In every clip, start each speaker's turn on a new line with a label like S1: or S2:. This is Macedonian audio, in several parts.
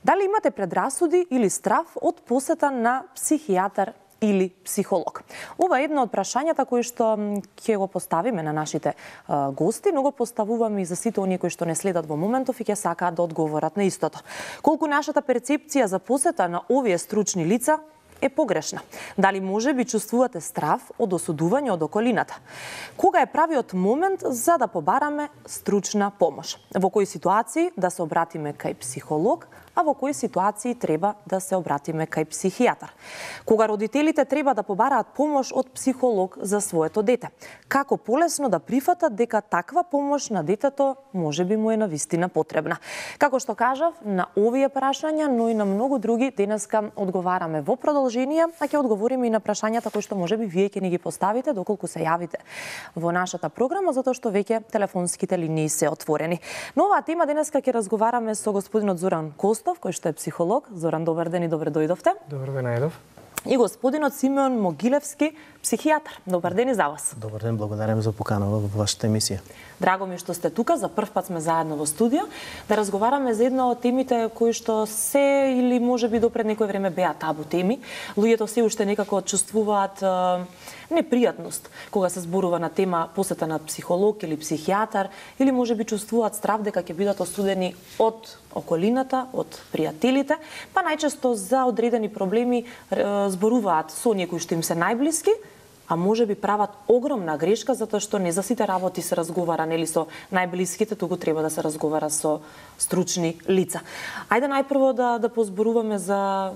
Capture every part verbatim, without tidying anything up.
S1: Дали имате предрасуди или страф од посета на психијатар или психолог? Ова е едно од прашањата кои што ќе го поставиме на нашите а, гости, но го поставуваме и за сите оние кои што не следат во моментов и ќе сакаат да одговорат на истото. Колку нашата перцепција за посета на овие стручни лица е погрешна? Дали може би чувствувате страф од осудување од околината? Кога е правиот момент за да побараме стручна помош? Во кои ситуации да се обратиме кај психолог, а во кои ситуации треба да се обратиме кај психијатар? Кога родителите треба да побараат помош од психолог за своето дете? Како полесно да прифатат дека таква помош на детето може би му е навистина потребна? Како што кажав, на овие прашања, но и на многу други денеска одговараме во продолжение, а ќе одговориме и на прашањата кои што може би вие ќе ни ги поставите доколку се јавите во нашата програма, затоа што веќе телефонските линии се отворени. Но оваа тема денеска ќе разговараме со господинот Зоран Костов, кој што е психолог. Зоран, добар ден и добре дојдовте.
S2: Добар ден, Ајдов.
S1: И господинот Симеон Могилевски, психијатар. Добар ден и за вас.
S3: Добар ден, благодарам за покана во вашата емисија.
S1: Драго ми што сте тука, за прв пат сме заедно во студио, да разговараме за една од темите кои што се или можеби допред некој време беа табу теми. Луѓето се уште некако чувствуваат е, непријатност кога се зборува на тема посета на психолог или психијатар, или можеби чувствуваат страв дека ќе бидат осудени од околината, од пријателите, па најчесто за одредени проблеми е, зборуваат со оние кои што им се најблиски, а може би прават огромна грешка затоа што не за сите работи се разговара нели со најблиските, туку треба да се разговара со стручни лица. Ајде најпрво да да позборуваме за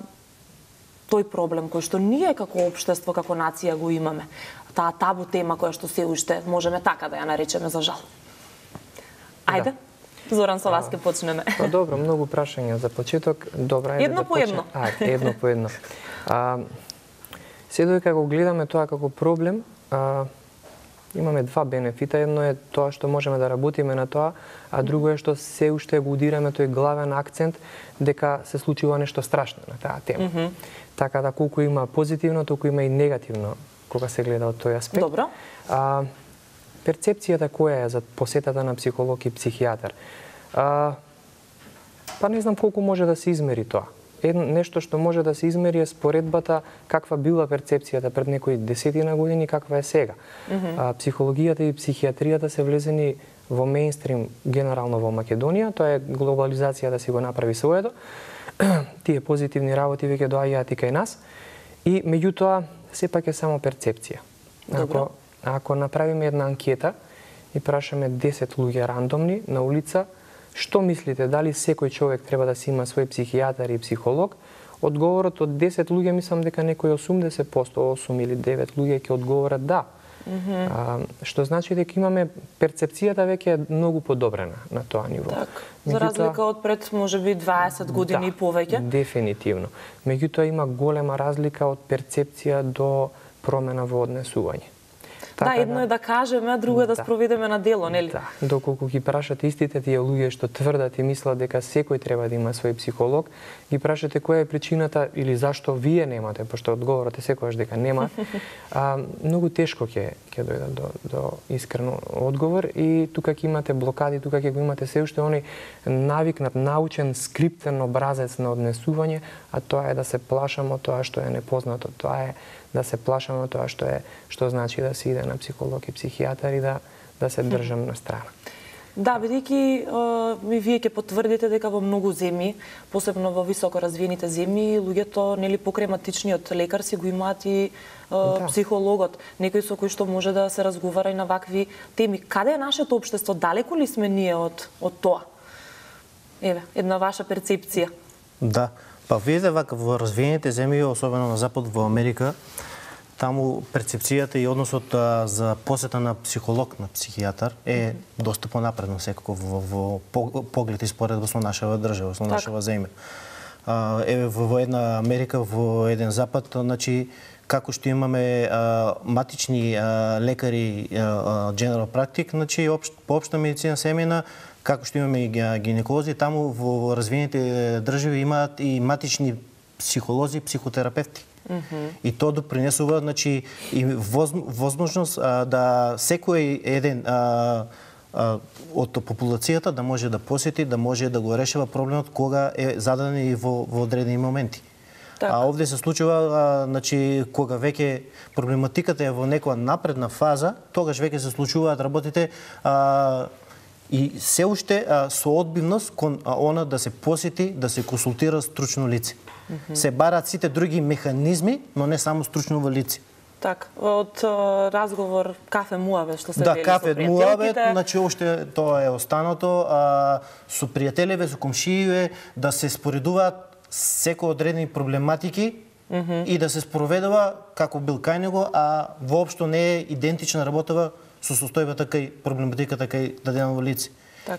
S1: тој проблем кој што ние како општество, како нација го имаме. Таа табу тема која што се уште можеме така да ја наречеме за жал. Ајде. Да. Зоран, со вас ќе почнеме.
S2: Па добро, многу прашања за почеток. Добро, ајде
S1: едно
S2: да
S1: по едно.
S2: Ајде, едно по едно. А, се додека го гледаме тоа како проблем, а, имаме два бенефита. Едно е тоа што можеме да работиме на тоа, а друго е што се уште го удираме тој главен акцент дека се случува нешто страшно на таа тема. Mm -hmm. Така да колку има позитивно, толку има и негативно кога се гледа од тој аспект.
S1: Добро.
S2: А, перцепцијата која е за посетата на психолог и психијатар? А, па не знам колку може да се измери тоа. Едно нешто што може да се измери е споредбата каква била перцепцијата пред некои десетина години, каква е сега. Mm -hmm. а, психологијата и психијатријата се влезени во мејнстрим генерално во Македонија, тоа е глобализација да си го направи своето. Тие позитивни работи веќе доаѓаат и кај нас. И меѓутоа сепак е само перцепција. Ако, ако направиме една анкета и прашаме десет луѓе рандомни на улица, што мислите, дали секој човек треба да си има свој психијатар и психолог? Одговорот од десет луѓе мислам дека некои осумдесет проценти, осум или девет луѓе ќе одговорат да. Mm -hmm. а, што значи дека имаме перцепцијата веќе е многу подобрена на тоа ниво.
S1: Так, за разлика од пред можеби дваесет години да, и повеќе.
S2: Дефинитивно. Меѓутоа има голема разлика од перцепција до промена во однесување.
S1: Така, да, едно е да кажеме, а друго е да, да спроведеме на дело, нели?
S2: Да, доколку ги прашате истите тие луѓе што тврдат и мислат дека секој треба да има свој психолог, ги прашате која е причината или зашто вие немате, пошто одговорот е секогаш дека нема, а, многу тешко ќе ќе дојдат до, до искрено одговор и тука ќе имате блокади, тука ќе го имате се уште оној навикнат, научен, скриптен образец на однесување, а тоа е да се плашаме од тоа што е непознато, тоа е да се плашаме од тоа што е што значи да се иде на психолог и психијатар и да да се држам на страна.
S1: Да, бидејќи ми вие ќе потврдите дека во многу земји, посебно во високо развиените земји, луѓето нели покрај матичниот лекар си го имаат и да. психологот, некој со кој што може да се разговара и на вакви теми. Каде е нашето општество? Далеку ли сме ние од од тоа? Еве, една ваша перцепција.
S3: Да. Па видите вака во развиените земји, особено на запад во Америка, таму перцепцијата и односот а, за посета на психолог, на психијатар е доста понапредно секако во, во, во поглед и споредба со нашава држава, со нашава земја. А, еве во, во една Америка, во еден запад, значи како што имаме а, матични а, лекари, а, general practic, значи општ, по општа медицина семејна, како што имаме и гинеколози, таму во развиените држави имаат и матични психолози, психотерапевти. Mm-hmm. И тоа допринесува, значи, и воз, возможност а, да секој еден а, од популацијата да може да посети, да може да го решава проблемот кога е зададен и во, во одредени моменти. Так. А овде се случува, а, значи, кога веќе проблематиката е во некоја напредна фаза, тогаш веќе се случуваат работите а, и се уште а, со одбивност кон а, она да се посети, да се консултира стручно лице. Mm-hmm. Се бараат сите други механизми, но не само стручно лице.
S1: Так, од разговор кафе муабет што се
S3: да,
S1: вели
S3: кафе
S1: со
S3: муабет, значи уште тоа е останато, а, со пријателеве, со комшије, да се споредуваат секој одредени проблематики mm -hmm. и да се спроведува како бил кај него, а воопшто не е идентична работава со состојбата кај проблематиката кај дадено лице.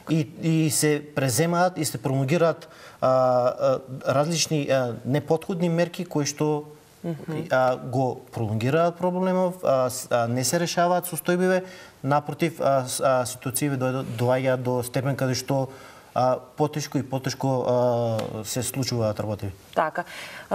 S3: И, и се преземаат и се промогираат а, а, различни а, неподходни мерки кои што mm -hmm. а, го пролонгираат проблемов, а, а, не се решаваат состојбиве, напротив, а, а, ситуацији доаѓаат до степен каде што а, потешко и потешко а, се случуваат работи.
S1: Така.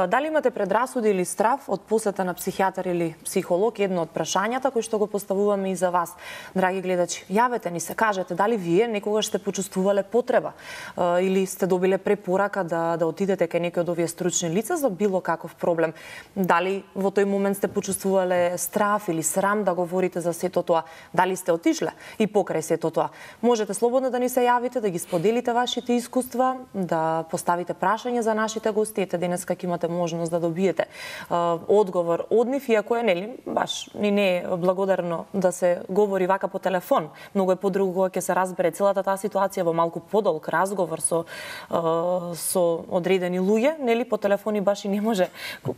S1: Дали имате предрасуди или страв од посета на психијатар или психолог? Едно од прашањата кои што го поставуваме и за вас, драги гледачи. Јавете ни се, кажете дали вие некогаш сте почувствувале потреба или сте добиле препорака да да отидете кај некој од овие стручни лица за било каков проблем. Дали во тој момент сте почувствувале страв или срам да говорите за сето тоа? Дали сте отишле и покрај сето тоа? Можете слободно да ни се јавите, да ги споделите вашите искуства, да поставите прашања за нашите гости. Ете денеска ќе имате можност да добиете а, одговор од нив, иако е нели баш ни не е благодарно да се говори вака по телефон. Многу е подруго кога ќе се разбере целата таа ситуација во малку подолг разговор со а, со одредени луѓе, нели по телефони баш и не може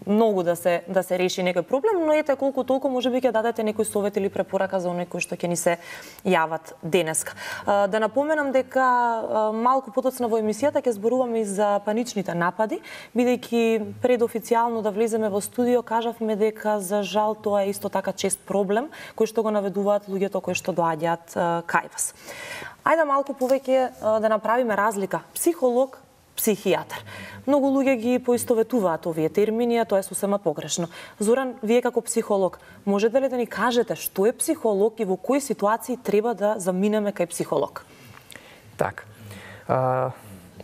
S1: многу да се да се реши некој проблем, но ете колку толку можеби ќе дадете некој совет или препорака за оние кои што ќе ни се јават денеска. А, да напоменам дека а, малку потоцна во емисијата ќе зборуваме и за паничните напади, бидејќи пред официјално да влеземе во студио кажавме дека за жал тоа е исто така чест проблем кој што го наведуваат луѓето кои што доаѓаат кај вас. Ајде малку повеќе да направиме разлика психолог, психијатар. Многу луѓе ги поистоветуваат овие термини, а тоа е сосема погрешно. Зоран, вие како психолог, можете ли да ни кажете што е психолог и во кои ситуации треба да заминеме кај психолог?
S2: Так. А...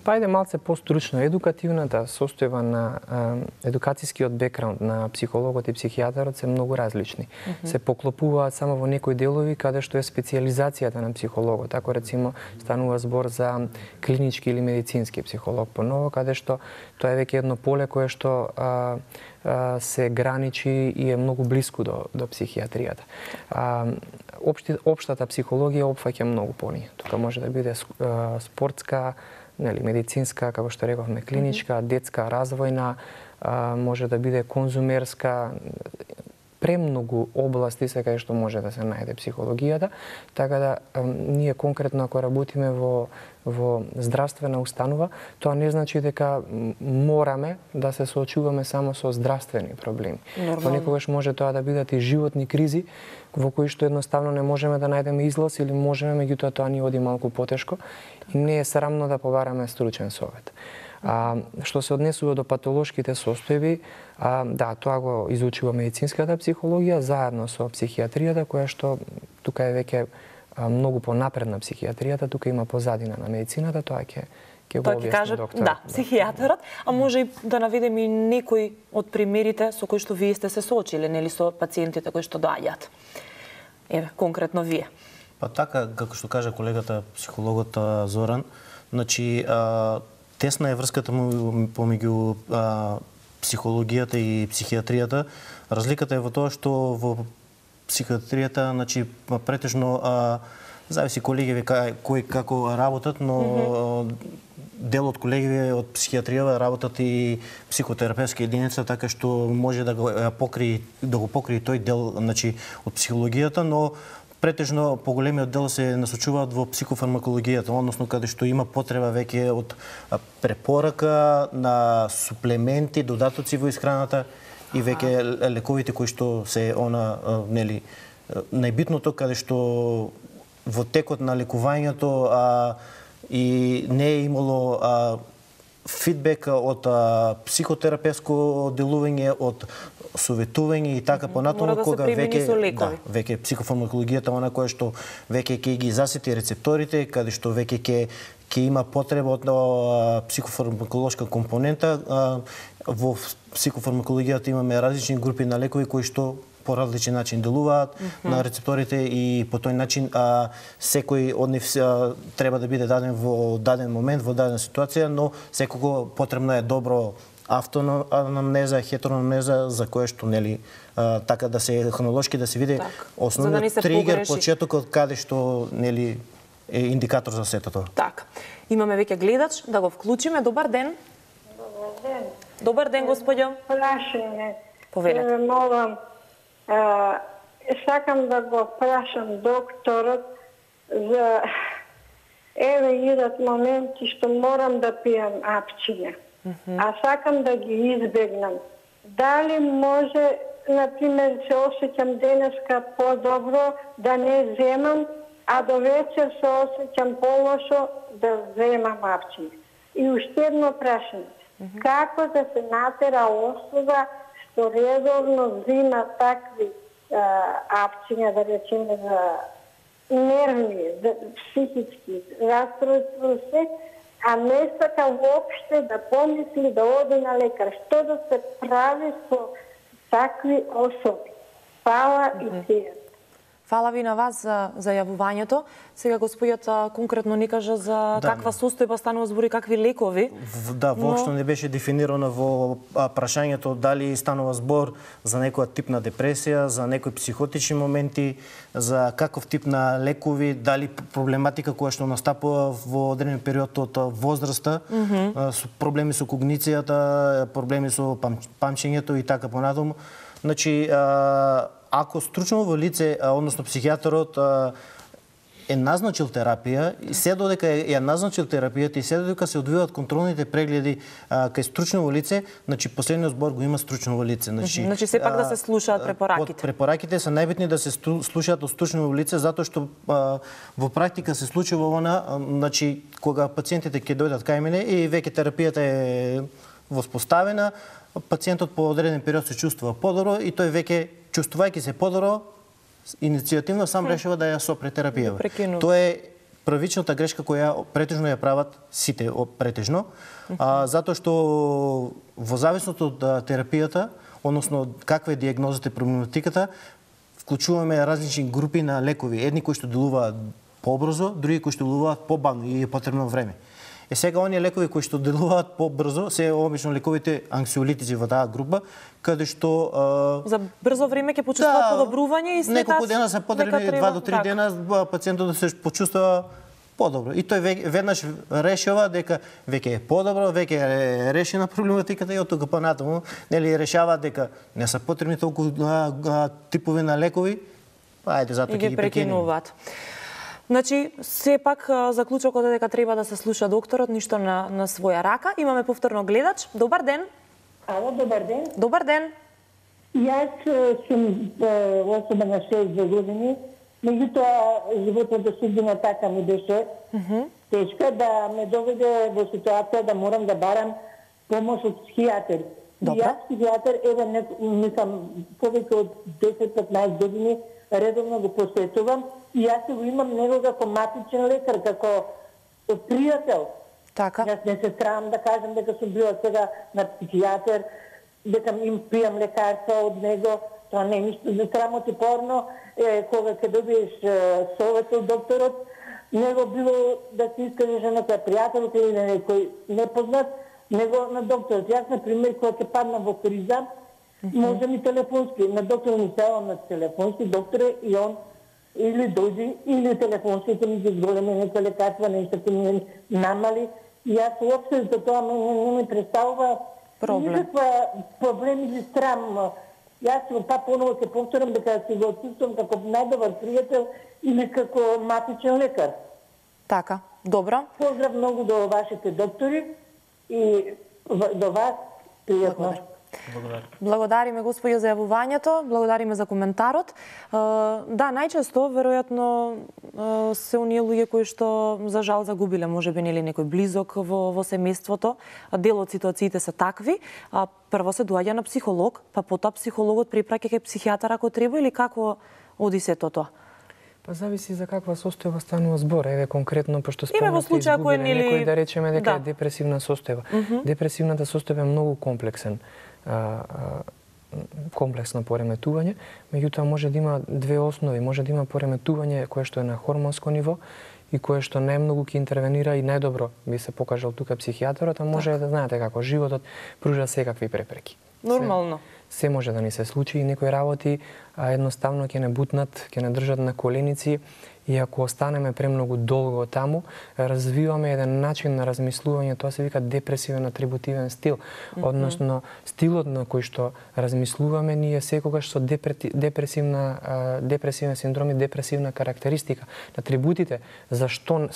S2: Па иде малце постручно. Едукативната состојба на е, едукацијскиот бекграунд на психологот и психијатарот се многу различни. Mm -hmm. Се поклопуваат само во некои делови каде што е специјализацијата на психологот. Ако рецимо станува збор за клинички или медицински психолог поново, каде што тоа е веќе едно поле кое што а, а, се граничи и е многу блиску до, до психијатријата. А, општи, општата психологија опфаќа многу поние. Тука може да биде а, спортска, нели, медицинска, како што рековме, клиничка, детска, развојна, а, може да биде конзумерска, премногу области се кај што може да се најде психологијата, така да а, ние конкретно ако работиме во во здравствена установа, тоа не значи дека мораме да се соочуваме само со здравствени проблеми. Понекогаш може тоа да бидат и животни кризи во кои што едноставно не можеме да најдеме излаз или можеме, меѓутоа тоа ни оди малку потешко и не е срамно да побараме стручен совет. А, што се однесува до патолошките состојби, а, да, тоа го изучува медицинската психологија заедно со психијатријата, која што тука е веќе многу понапредна психијатријата, тука има позадина на медицината, тоа ќе ќе го објасни докторот.
S1: Да, психијатарот, а може и да наведеме и некои од примерите со кои што вие сте се соочиле, нели, со пациентите кои што доаѓаат. Еве, конкретно вие.
S3: Па така, како што кажа колегата психологот Зоран, значи а, тесна е врската помеѓу психологијата и психијатријата. Разликата е во тоа што во психијатријата, значи претежно а, зависи колегиви кои како работат, но mm-hmm. дел од колегиви од психијатријава работат и психотерапевтска единица, така што може да го покри да го покри тој дел, значи од психологијата, но претежно поголемиот дел се насочуваат во психофармакологијата, односно каде што има потреба веќе од препорака на суплементи, додатоци во исхраната и веќе лековите кои што се она, нели, најбитното каде што во текот на лекувањето а, и не е имало а, фидбек од а, психотерапевско делување, од советување и така понатаму,
S1: да
S3: кога веќе
S1: да,
S3: веќе психофармакологијата она која што веќе ќе ги засети рецепторите, каде што веќе ќе ќе има потреба од а, психофармаколошка компонента. А, во психофармакологијата имаме различни групи на лекови кои што по различен начин делуваат mm -hmm. на рецепторите и по тој начин а, секој од нив а, треба да биде даден во даден момент, во дадена ситуација, но секако потребно е добро автоанамнеза, хетероанамнеза, за кое што нели а, така да се хронолошки да се види
S1: так,
S3: основниот да тригер, почетокот каде што нели е индикатор за сето тоа.
S1: Така. Имаме веќе гледач, да го вклучиме. Добар ден.
S4: Добар ден.
S1: Добар ден, господјо.
S4: Прашање.
S1: Повелете.
S4: Молам, а, сакам да го прашам докторот за еве идат моменти што морам да пијам апчиња. Mm -hmm. А сакам да ги избегнам. Дали може, например, се осеќам денеска по-добро да не земам, а до вечер се осеќам полошо да земам апчиња. И уште едно прашање. Mm -hmm. Како да се натера особа што редовно зима такви а, апчиња, да речеме, за нервни, за психички расстройства, се, а не сака воопште да помисли да оди на лекар. Што да се прави со такви особи? Фала mm -hmm. и теја.
S1: Фала ви на вас за, за јавувањето. Сега господјот конкретно ни кажа за да, каква состојба станува збори, какви лекови.
S3: В, да, воопшто но... не беше дефинирано во прашањето дали станува збор за некоја тип на депресија, за некои психотични моменти, за каков тип на лекови, дали проблематика која што настапува во одреден период од возраста, mm -hmm. со проблеми со когницијата, проблеми со пам, памчењето и така понатаму. Значи, а, ако стручново лице, односно психијатрот, е назначил терапија, и се додека ја назначил терапијата и се додека се одвиваат контролните прегледи а, кај стручново лице, значи последниот збор го има стручново лице. Значи,
S1: значи сепак да се слушаат препораките.
S3: Препораките се најбитни да се слушаат од стручново лице, затоа што а, во практика се случува она, а, значи кога пациентите ќе дојдат кај мене и веќе терапијата е воспоставена, пациентот по одреден период се чувствува подобро и тој веќе чувствувајќи се подобро, иницијативно сам решава да ја сопре терапија. Тоа е првичната грешка која претежно ја прават сите претежно, а, затоа што во зависност од терапијата, односно каква е дијагнозата и проблематиката, вклучуваме различни групи на лекови. Едни кои што делуваат побрзо, други кои што делуваат побавно и е потребно време. Е сега оние лекови кои што делуваат побрзо се обично лековите анксиолитици во таа група, каде што а...
S1: за брзо време ќе почувствува да, подобрување и след
S3: неколку дена се потребни, два до три так. дена пациентот да се почувствува подобро. И тој веднаш решава дека веќе е подобро, веќе е решена проблематиката и од тука понатаму нели решава дека не се потребни толку а, а, типови на лекови, ајде затоа ќе ги прекинуваат.
S1: Значи, сепак заклучокот е дека треба да се слуша докторот, ништо на, на своја рака. Имаме повторно гледач. Добар ден.
S4: Ало, добар ден.
S1: Добар ден.
S4: Јас сум особа на шеесет години, меѓутоа животната судбина така ми беше mm -hmm. тешка да ме доведе во ситуација да морам да барам помош од психијатер.
S1: Добра.
S4: Јас психијатер, еве, не, мислам, повеќе од десет-петнаесет години редовно го посетувам и јас го имам него како матичен лекар, како пријател.
S1: Така.
S4: Јас не се срамам да кажам дека сум била сега на психијатер, дека им пијам лекарства од него. Тоа не е ништо за срамотипорно. Е, кога ќе добиеш совет од докторот, него било да се искажеш на некој пријател или на некој непознат, него на докторот. Јас, например, кога ќе падна во криза, mm -hmm. може ми телефонски, на доктор ми ставам на телефонски, докторе, и он или дојди, или телефонски ќе ми ги зголеми некој лекарства, нешто ќе ми намали. И јас уопште за тоа не, не ми представува
S1: проблем.
S4: Никаква проблем или срам. Јас па поново ќе повторам дека се го чувствувам како најдобар пријател или како матичен лекар.
S1: Така, добро.
S4: Поздрав многу до вашите доктори и до вас, пријатно.
S3: Благодарам.
S1: Благодариме, господјо, за јавувањето, благодариме за коментарот. Да, најчесто, веројатно, се оние луѓе кои што, за жал, загубиле, може би, нели некој близок во, во семејството. Дел од ситуациите се такви. Прво се доаѓа на психолог, па потоа психологот препраќа кај психијатар ако треба, или како оди сето тоа?
S2: Па зависи за каква состојба станува збор. Еве конкретно, пошто
S1: спомнавте изгубиле
S2: нели... некој, да речеме дека
S1: да.
S2: е депресивна состојба. Mm -hmm. Депресивната состојба е многу комплексен. А, а, комплексно пореметување, меѓутоа може да има две основи. Може да има пореметување кое што е на хормонско ниво и кое што најмногу ќе интервенира и најдобро би се покажал тука психијаторот, а може так. да знаете како животот пружа секакви препреки.
S1: Нормално.
S2: Се, се може да ни се случи и некои работи а, едноставно ќе не бутнат, ќе не држат на коленици, и ако останеме премногу долго таму, развиваме еден начин на размислување, тоа се вика депресивен атрибутивен стил, mm -hmm. односно стилот на кој што размислуваме ние секогаш со депресивна депресивен синдром и депресивна карактеристика. Атрибутите зашто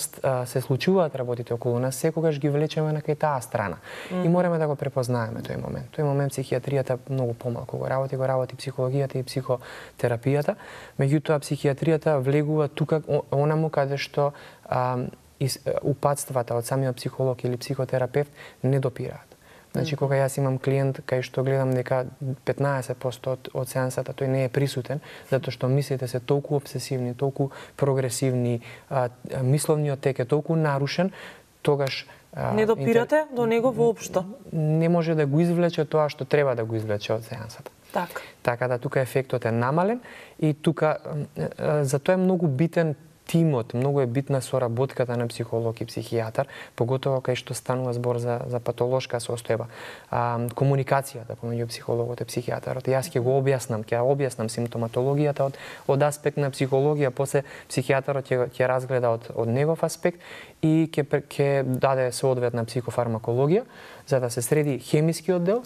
S2: се случуваат работите околу нас секогаш ги влечеме на кај таа страна. Mm -hmm. И мораме да го препознаеме тој момент. Тој момент психијатријата многу помалку го работи, го работи психологијата и психотерапијата, меѓутоа психијатријата влегува тука онаму каде што а, из, упатствата од самиот психолог или психотерапевт не допираат. Значи, кога јас имам клиент кај што гледам дека петнаесет проценти од, од сеансата тој не е присутен, затоа што мислите се толку обсесивни, толку прогресивни, а, мисловниот тек е толку нарушен, тогаш
S1: не допирате интер... до него воопшто.
S2: Не може да го извлече тоа што треба да го извлече од сеансата.
S1: Так.
S2: Така да тука ефектот е намален и тука затоа е многу битен тимот, многу е битна соработката на психолог и психијатар, поготово кај што станува збор за, за патолошка состојба. А, комуникацијата помеѓу психологот и психијатарот. Јас ќе го објаснам, ќе објаснам симптоматологијата од, од аспект на психологија, после психијатарот ќе, ќе разгледа од, од негов аспект и ќе, ќе даде соодветна психофармакологија, за да се среди хемискиот дел,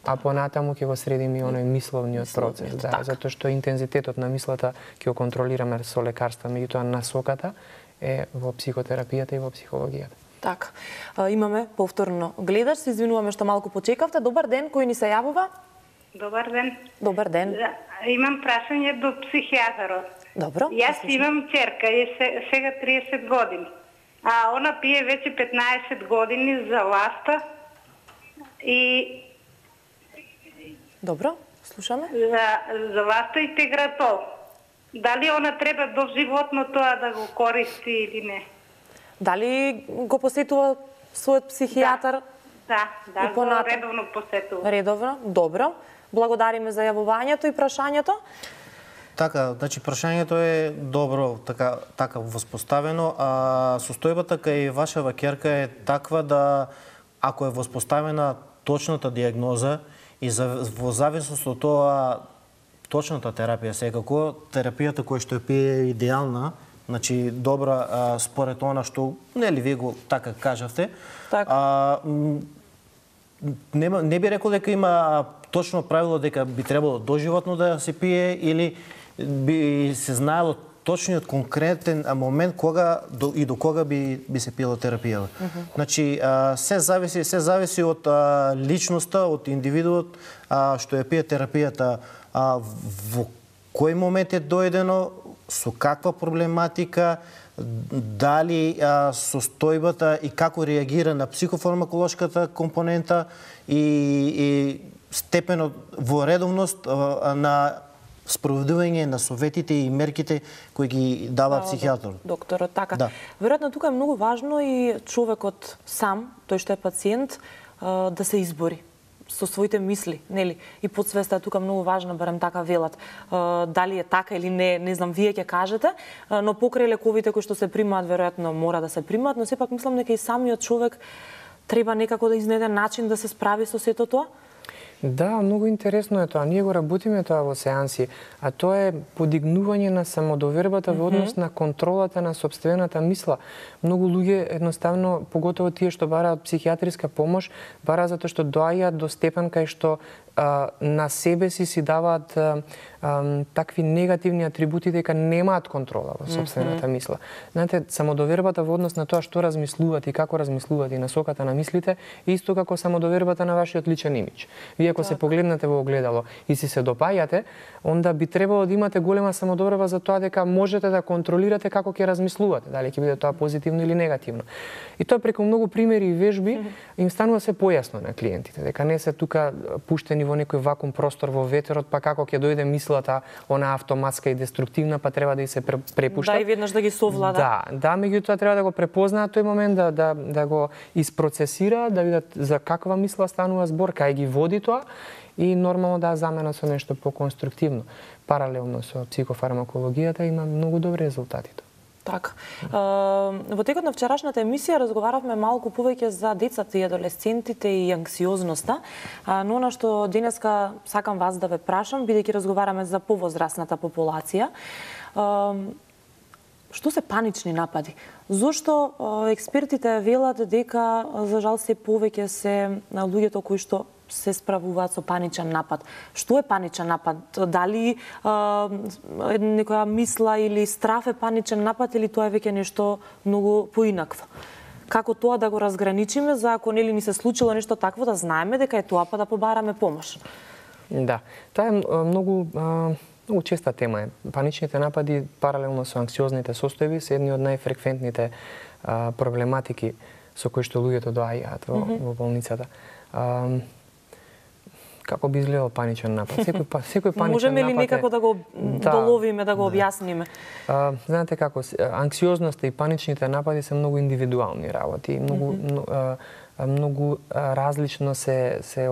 S2: а понатаму ќе го средиме и оној мисловниот процес, да,
S1: так.
S2: затоа што интензитетот на мислата ќе го контролираме со лекарства, меѓутоа насоката е во психотерапијата и во психологијата.
S1: Така. Имаме повторно гледач, се извинуваме што малку почекавте. Добар ден, кој ни се јавува?
S5: Добар ден.
S1: Добар ден.
S5: Да, имам прашање до психијатарот.
S1: Добро.
S5: Јас имам ќерка, е сега триесет години, а она пие веќе петнаесет години за ласта и
S1: Добро, слушаме.
S5: За, за ласта и тегратол. Дали она треба доживотно тоа да го користи или не?
S1: Дали го посетува својот психијатар?
S5: Да, да, да го редовно посетува.
S1: Редовно, добро. Благодариме за јавувањето и прашањето.
S3: Така, значи прашањето е добро така така воспоставено, а состојбата кај вашава ќерка е таква да ако е воспоставена точната дијагноза и за, во зависност од тоа точната терапија секако, терапијата која што ја пие е идеална, значи добра а, според она што нели вие го така кажавте.
S1: Так.
S3: А, не, не би рекол дека има точно правило дека би требало доживотно да се пие или би се знаело точниот конкретен момент кога до, и до кога би би се пила терапијата. Mm -hmm. Значи а, се зависи се зависи од а, личноста, од индивидуот а, што ја пие терапијата, а, во кој момент е дојдено, со каква проблематика, дали а, состојбата и како реагира на психофармаколошката компонента и, и степенот во редовност а, на спроведување на советите и мерките кои ги дава психијаторот.
S1: Докторот, така.
S3: Да.
S1: Веројатно тука е многу важно и човекот сам, тој што е пациент, да се избори со своите мисли, нели? И подсвеста е тука многу важна, барем така велат. Дали е така или не, не знам, вие ќе кажете, но покрај лековите кои што се примаат, веројатно мора да се примаат, но сепак мислам дека и самиот човек треба некако да изнеде начин да се справи со сето тоа.
S2: Да, многу интересно е тоа. Ние го работиме тоа во сеанси, а тоа е подигнување на самодовербата во однос на контролата на сопствената мисла. Многу луѓе едноставно, поготово тие што бараат психијатриска помош, бараат затоа што доаѓаат до степен кај што а, на себе си си даваат а, а, такви негативни атрибути дека немаат контрола во сопствената mm -hmm. мисла. Знаете, самодовербата во однос на тоа што размислуваат и како размислуваат и насоката на мислите, исто како самодовербата на вашиот личен имидж. Вие Вие ако се погледнете во огледало и си се допаѓате, онда би требало да имате голема самодобрива за тоа дека можете да контролирате како ќе размислувате, дали ќе биде тоа позитивно или негативно. И тоа преку многу примери и вежби им станува се појасно на клиентите, дека не се тука пуштени во некој вакуум простор во ветерот, па како ќе дојде мислата, она автоматска и деструктивна, па треба да и се препушта.
S1: Да, и веднаш да ги совлада.
S2: Да, да, меѓутоа треба да го препознаат тој момент, да, да, да го испроцесира, да видат за каква мисла станува збор, кај ги води тоа и нормално да замена со нешто поконструктивно. Паралелно со психофармакологијата има многу добри резултати.
S1: Така. Во текот на вчерашната емисија разговаравме малку повеќе за децата и адолесцентите и анксиозноста, но она што денеска сакам вас да ве прашам, бидејќи разговараме за повозрасната популација, што се панични напади? Зошто експертите велат дека за жал се повеќе се луѓето кои што се справуваат со паничен напад? Што е паничен напад? Дали а, некоја мисла или страф е паничен напад или тоа е веќе нешто многу поинакво? Како тоа да го разграничиме за ако нели ни се случило нешто такво да знаеме дека е тоа па да побараме помош?
S2: Да, тоа е многу многу честа тема е. Паничните напади паралелно со анксиозните состојби се едни од најфреквентните а, проблематики со кои што луѓето доаѓаат во, mm-hmm. во болницата. А, како би изгледал паничен напад? Секој, секој паничен
S1: Можеме ли
S2: напад
S1: некако
S2: е...
S1: да го
S2: да,
S1: доловиме, да го објасниме?
S2: А, знаете како, анксиозноста и паничните напади се многу индивидуални работи, многу, mm-hmm. многу, многу различно се се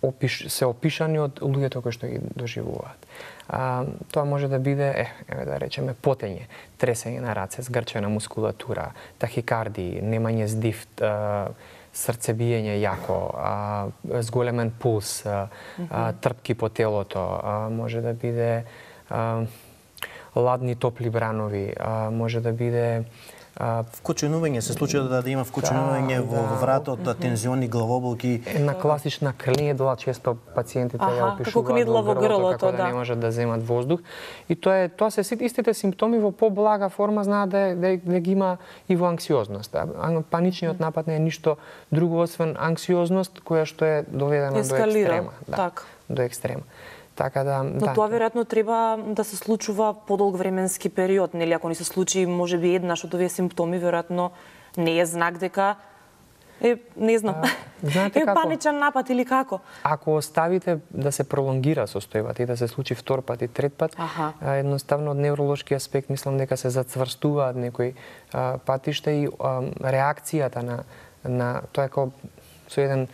S2: опиш, се опишани од луѓето кои што ги доживуваат. А, тоа може да биде, е, еве да речеме, потење, тресење на раце, згрчена мускулатура, тахикардии, немање здив, срцебиење јако, а, зголемен пулс, а, а, трпки по телото, а, може да биде а, ладни топли бранови, а, може да биде
S3: А, вкоченување, се случува да, да има вкоченување да, во, во вратот, да, тензиони, главоболки.
S2: Една класична кнедла, често пациентите ја опишуваат
S1: како кнедла во грлото,
S2: како да, да не можат да земат воздух. И тоа е тоа се истите симптоми во поблага форма знаат да, да, да ги има и во анксиозност. Паничниот напад не е ништо друго освен анксиозност која што е доведена
S1: Ескалира,
S2: до екстрема, да,
S1: так.
S2: до екстрема. Така да,
S1: Но
S2: да,
S1: тоа веројатно треба да се случува подолг временски период, нели ако ни се случи можеби еднаш од овие симптоми, веројатно не е знак дека е, не знам, а, знаете е како? Паничен напад или како?
S2: Ако оставите да се пролонгира состојбата и да се случи втор пат и трет пат, а, едноставно од невролошки аспект мислам дека се зацврстуваат некои а, патишта и а, реакцијата на на тоа е како со еден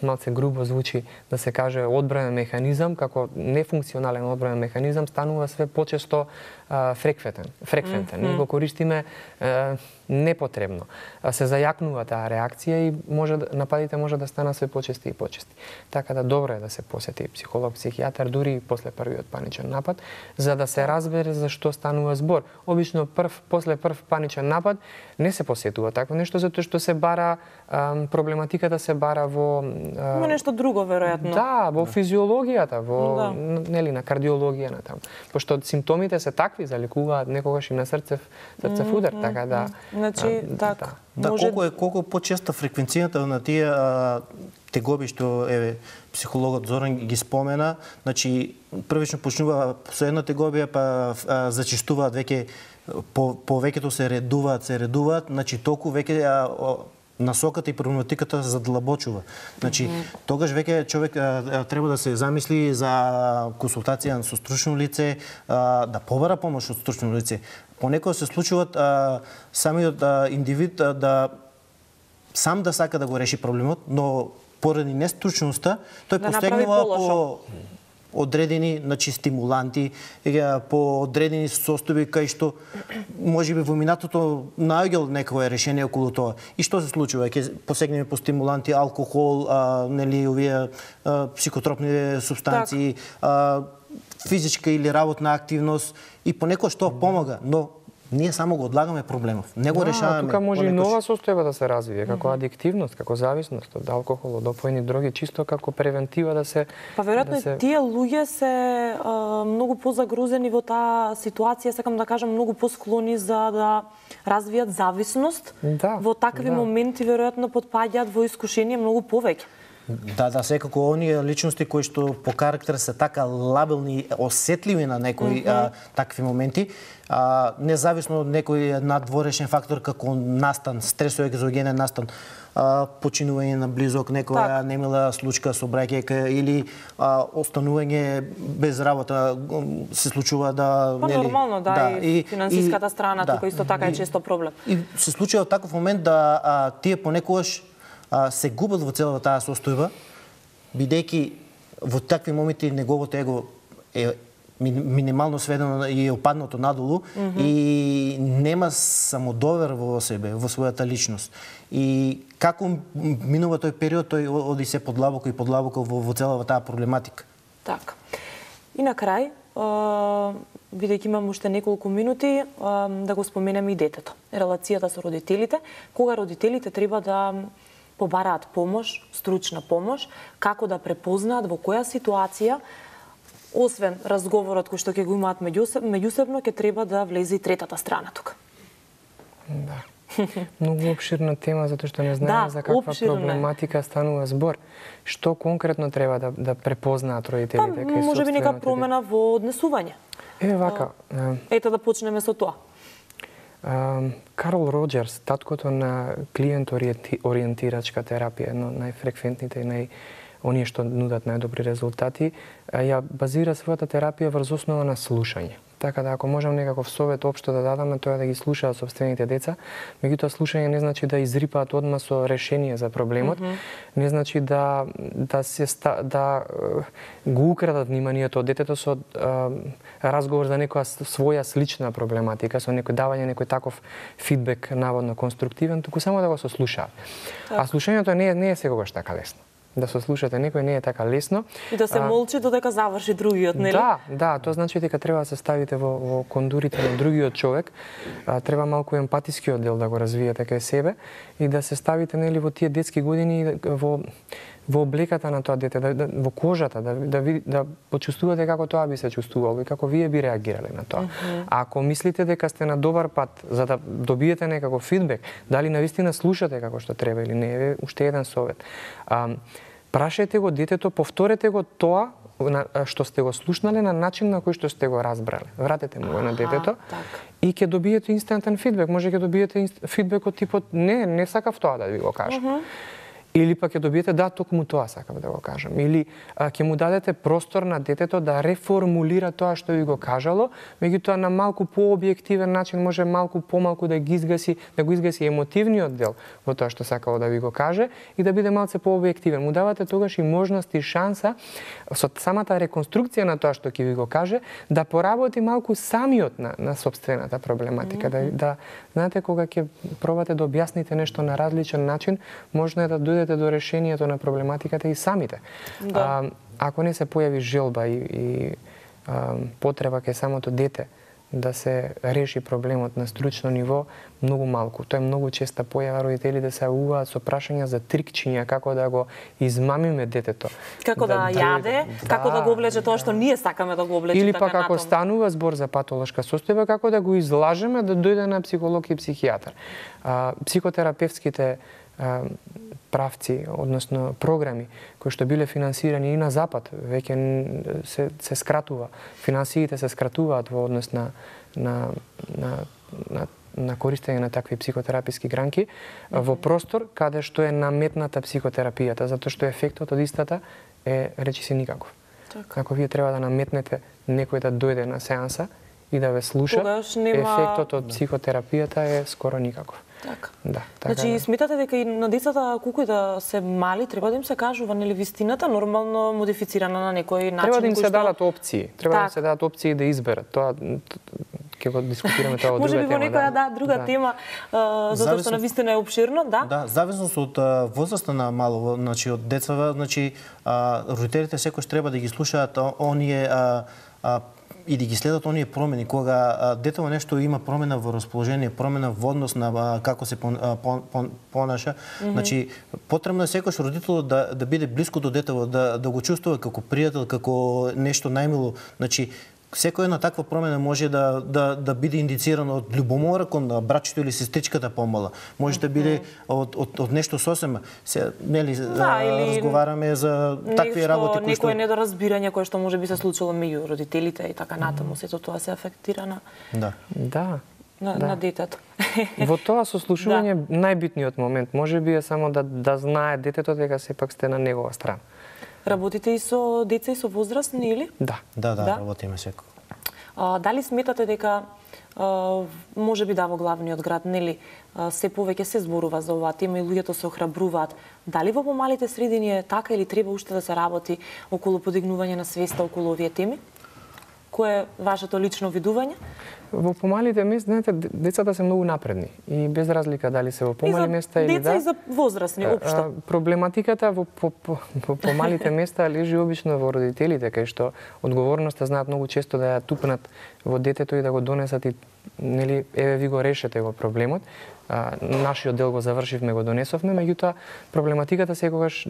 S2: малце грубо звучи да се каже одбранен механизам, како нефункционален одбранен механизам, станува све почесто а, фреквентен. фреквентен. Mm-hmm. Ние го користиме а, непотребно. А, се зајакнува таа реакција и може нападите може да станат све почести и почести. Така да добро е да се посети психолог, психијатар дури и после првиот паничен напад, за да се разбере за што станува збор. Обично прв после прв паничен напад не се посетува такво нешто затоа што се бара а, проблематиката се бара во
S1: Но нешто друго, веројатно.
S2: Да, во физиологијата, во
S1: да.
S2: нели на кардиологија на таму. Пошто симптомите се такви, заликуваат некогаш и на срцев, срцев удар, mm -hmm. така да.
S1: Значи,
S2: а,
S1: така.
S3: Да,
S1: може...
S3: колку е колку почеста фреквенцијата на тие а, тегоби што еве психологот Зоран ги спомена, значи првично почнува со една тегобија, па а, зачистуваат веќе по повеќето се редуваат, се редуваат, значи толку веќе а, насоката и проблематиката задлабочува. Значи, mm-hmm. тогаш веќе човек а, треба да се замисли за консултација со стручно лице, а, да побара помош од стручно лице. Понекогаш се случуваат а, самиот а, индивид а, да сам да сака да го реши проблемот, но поради нестручноста тој да постигнува по одредени, значи, стимуланти, по одредени состојби кај што можеби во минатото наоѓал некое решение околу тоа. И што се случува? Ќе посегнеме по стимуланти, алкохол, а, нели овие а, психотропни супстанции, а, физичка или работна активност и понекогаш тоа помага, но ние само го одлагаме проблемов. Не го да, решаваме.
S2: Тука може и нова состојба да се развие, како mm-hmm. адиктивност, како зависност од алкохол, од опојни дроги, чисто како превентива да се...
S1: Па веројатно
S2: да се...
S1: тие луѓе се а, многу позагрузени во таа ситуација, сакам да кажам, многу посклони за да развијат зависност.
S2: Да,
S1: во такви
S2: да.
S1: моменти веројатно потпаѓаат во искушение многу повеќе.
S3: Да, да, секако оние личности кои што по карактер се така лабилни, осетливи на некои mm -hmm. а, такви моменти, а, независно од некој надворешен фактор како настан, стресови екзогенен настан, а, починување на близок, некоја так. немила случка со браќајка или а, останување без работа се случува да
S1: па,
S3: нели
S1: нормално да,
S3: да
S1: и, и финансиската страна да, тука исто така е често проблем.
S3: И се случува таков момент да а, тие понекогаш а, се губат во целата таа состојба, бидејќи во такви моменти неговото его е минимално сведено и е опаднато надолу mm -hmm. и нема самодовер во себе, во својата личност. И како минува тој период, тој оди се подлабоко и подлабоко во, во целата таа проблематика.
S1: Така. И на крај, бидејќи имам уште неколку минути, да го споменеме и детето. Релацијата со родителите, кога родителите треба да побараат помош, стручна помош, како да препознаат во која ситуација, освен разговорот кој што ќе го имаат меѓусебно, ќе треба да влезе и третата страна тука.
S2: Да. Многу обширна тема, затоа што не знаеме
S1: да,
S2: за каква
S1: обширна.
S2: проблематика станува збор. Што конкретно треба да, да препознаат родителите?
S1: Па, може би нека промена во однесување.
S2: Е, вака. А,
S1: ето да почнеме со тоа.
S2: А, Карл Роджерс, таткото на клиент ориентирачка терапија, едно најфреквентните и нај оние што нудат најдобри резултати, ја базира својата терапија врз основа на слушање. Така да ако можам некаков совет општо да дадаме, тоа е да ги слушаат сопствените деца. Меѓутоа слушање не значи да изрипаат одма со решение за проблемот, mm -hmm. не значи да да се ста, да го украдат вниманието од детето со а, разговор за некоја своја слична проблематика, со некој давање некој таков фидбек наводно конструктивен, туку само да го сослушаат. Так. А слушањето не е не е секогаш така лесно. Да се слушате некој не е така лесно.
S1: И да се молчи додека заврши другиот, нели?
S2: Да, да, тоа значи дека треба да се ставите во, во кондурите на другиот човек, а, треба малку емпатискиот дел да го развиете кај себе и да се ставите нели во тие детски години во во облеката на тоа дете, да, да, во кожата, да, да, да, да почувствувате како тоа би се чувствувало и како вие би реагирале на тоа. Mm -hmm. А ако мислите дека сте на добар пат за да добиете некако фидбек, дали навистина слушате како што треба или не, е уште еден совет. А, прашајте го детето, повторете го тоа што сте го слушнале на начин на кој што сте го разбрале. Вратете му го на детето
S1: так.
S2: И ќе добиете инстантен фидбек. Може ќе добиете фидбек од типот не, не сакав тоа да ви го кажам. Mm -hmm. Или пак ќе добиете да, токму тоа сакам да го кажам. Или а, ќе му дадете простор на детето да реформулира тоа што ви го кажало, меѓутоа на малку пообјективен начин, може малку помалку да ги изгаси, да го изгаси емотивниот дел во тоа што сакало да ви го каже и да биде малце пообјективен. Му давате тогаш и можност и шанса со самата реконструкција на тоа што ќе ви го каже да поработи малку самиот на, на собствената проблематика. Mm -hmm. Да, да знаете кога ќе пробате да објасните нешто на различен начин, можно е да дојде до решението на проблематиката и самите. Да. А, ако не се појави желба и, и а, потреба кај самото дете да се реши проблемот на стручно ниво, многу малку. Тоа е многу честа појава, родителите се јавуваат со прашања за трикчиња, како да го измамиме детето.
S1: Како да, да јаде, да, како да го облече тоа што ние сакаме да го облече.
S2: Или
S1: така
S2: пак ако станува збор за патолошка состојба, како да го излажеме да дојде на психолог и психијатар. А, психотерапевтските а, правци, односно програми кои што биле финансирани и на запад, веќе се, се скратува. Финансиите се скратуваат во однос на, на, на, на, на користење на такви психотераписки гранки mm -hmm. во простор каде што е наметната психотерапијата, затоа што ефектот од истата е речиси никаков. Так. Ако вие треба да наметнете некој да дојде на сеанса и да ве слуша, нема... ефектот од психотерапијата е скоро никаков.
S1: Така.
S2: Да, така
S1: значи,
S2: да.
S1: сметате дека и на децата, колку и да се мали, треба да им се кажува, нели, вистината, нормално модифицирана на некој начин.
S2: Треба да им се
S1: што...
S2: дадат опции. Треба так. да им се дадат опции да изберат. Тоа ќе го дискутираме тоа од друга тема.
S1: Може би во некоја да, друга
S2: да.
S1: тема, а, затоа што навистина е обширно, да?
S3: Да, зависност од возраста на мало, значи од децата, значи а, родителите секој треба да ги слушаат оние а, а, и да ги следат оние промени, кога а, детето нешто има промена во расположение, промена во однос на а, како се пон, а, пон, пон, понаша, mm -hmm. значи потребно е секој родител да да биде блиску до детето, да да го чувствува како пријател, како нешто најмило, значи секоја една таква промена може да да да биде индицирана од љубомора кон братчето или сестричката помала. Може да биде од од од нешто сосема. Се нели
S1: да, или
S3: разговараме за такви работи кои што
S1: некое недоразбирање кое што може би се случило меѓу родителите и така натаму, сето тоа се афектира на
S3: Да.
S2: Да.
S1: на,
S2: да.
S1: на детето.
S2: Во тоа сослушување да. најбитниот момент може би е само да да знае детето дека сепак сте на негова страна.
S1: Работите и со деца и со возрастни или?
S2: Да.
S3: Да, да,
S1: Да?
S3: работиме секој.
S1: А, дали сметате дека а, може би да во главниот град, нели, а, се повеќе се зборува за оваа тема и луѓето се охрабруваат. Дали во помалите средини е така или треба уште да се работи околу подигнување на свеста околу овие теми? Кое е вашето лично видување?
S2: Во помалите места, знаете, децата се многу напредни и без разлика дали се во помали места или
S1: деца
S2: да.
S1: и за возрастни општо.
S2: Проблематиката во по, по, по помалите места лежи обично во родителите, кај што одговорноста знаат многу често да ја тупнат во детето и да го донесат и нели еве ви го решете го проблемот. А, нашиот дел го завршивме, го донесовме, меѓутоа проблематиката секогаш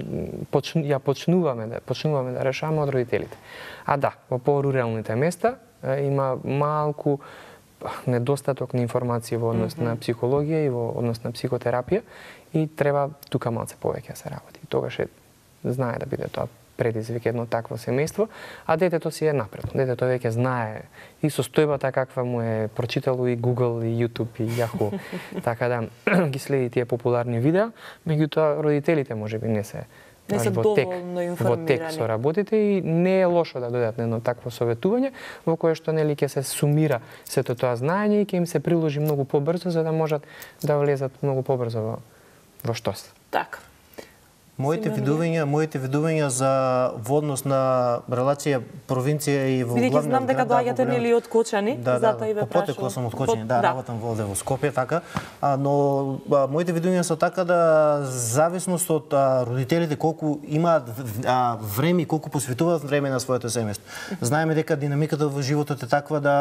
S2: почну, ја почнуваме да почнуваме да решаваме од родителите. А да, во поруралните места а, има малку недостаток на информација во однос mm -hmm. на психологија и во однос на психотерапија и треба тука малце повеќе да се работи. Тогаш е знае да биде тоа предизвик едно такво семејство, а детето си е напредно. Детето веќе знае и состојбата каква му е прочитало и Google, и YouTube, и Yahoo. Така да ги следи тие популарни видеа, меѓутоа родителите можеби не се
S1: не се
S2: во тек,
S1: доволно
S2: во
S1: информирани.
S2: тек со работите и не е лошо да дојдат на едно такво советување во кое што нели ќе се сумира сето тоа знаење и ќе им се приложи многу побрзо за да можат да влезат многу побрзо во во штос.
S1: Така.
S3: Моите видувања, моите видувања за во однос на релација провинција и во главниот град.
S1: Бидејќи знам дека доаѓате нели од Кочани,
S3: да,
S1: затоа и ве
S3: прашувам. Да, потекло сум од Кочани, да,
S1: да,
S3: работам во овде во Скопје, така. А, но а, моите видувања се така да зависност од а, родителите колку имаат а, време и колку посветуваат време на своето семејство. Знаеме дека динамиката во животот е таква да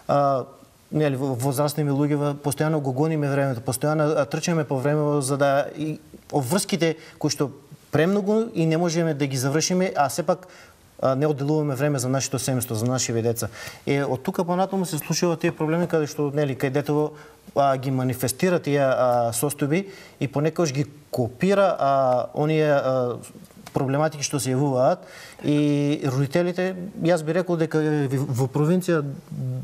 S3: а, нели возрастни луѓе постојано го гониме времето, постојано трчаме по време за да и обврските кои што премногу и не можеме да ги завршиме, а сепак не одделуваме време за нашето семејство, за нашите деца. Е од тука понатаму се случуваат тие проблеми каде што нели кај детето а, ги манифестира тие а, состојби и понекогаш ги копира а, оние а, проблематики што се јавуваат и родителите, јас би рекол дека во провинција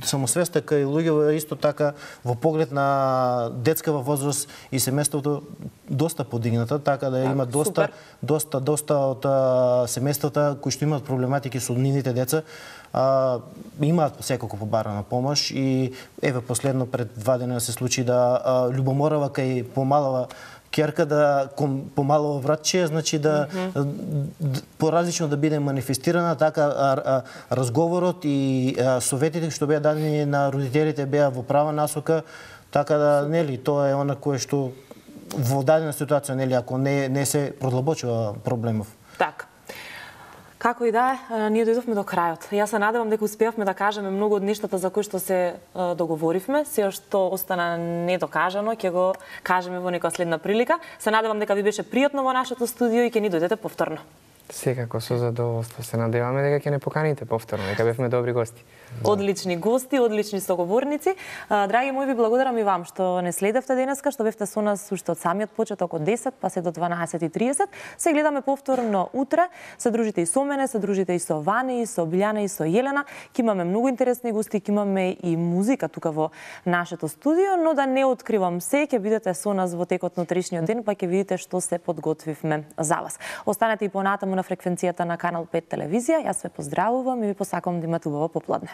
S3: самосвеста кај луѓе исто така во поглед на детскава возраст и семејството доста подигната, така да има доста
S1: супер.
S3: доста доста од а, семејствата кои што имаат проблематики со нивните деца а, имаат секако побарана помош и еве последно пред два дена се случи да а, љубоморава кај помалава ќерка да кон помалово братче, значи да mm -hmm. поразлично да биде манифестирана, така а, а, разговорот и а, советите што беа дадени на родителите беа во права насока, така да нели тоа е она кое што во дадена ситуација нели ако не не се продлабочува проблемов.
S1: Така. Како и да е, ние дојдовме до крајот. Јас се надевам дека успеавме да кажеме многу од нештата за кои што се е, договоривме. Се што остана недокажано, ќе го кажеме во некоја следна прилика. Се надевам дека ви беше пријатно во нашето студио и ќе ни дојдете повторно.
S2: Секако со задоволство. Се надеваме дека ќе не поканите повторно, дека бевме добри гости.
S1: Одлични гости, одлични соговорници. Драги мои, ви благодарам и вам што не следевте денеска, што бевте со нас уште од самиот почеток од десет па се до дванаесет и тридесет. Се гледаме повторно утре. Се дружите и со мене, се дружите и со Вани, и со Билјана, и со Јелена. Ќе имаме многу интересни гости, ќе имаме и музика тука во нашето студио, но да не откривам се, ќе бидете со нас во текот на утрешниот ден, па ќе видите што се подготвивме за вас. Останете и понатаму на фреквенцијата на Канал пет телевизија. Јас ве поздравувам и ви посакувам да имате убаво попладне.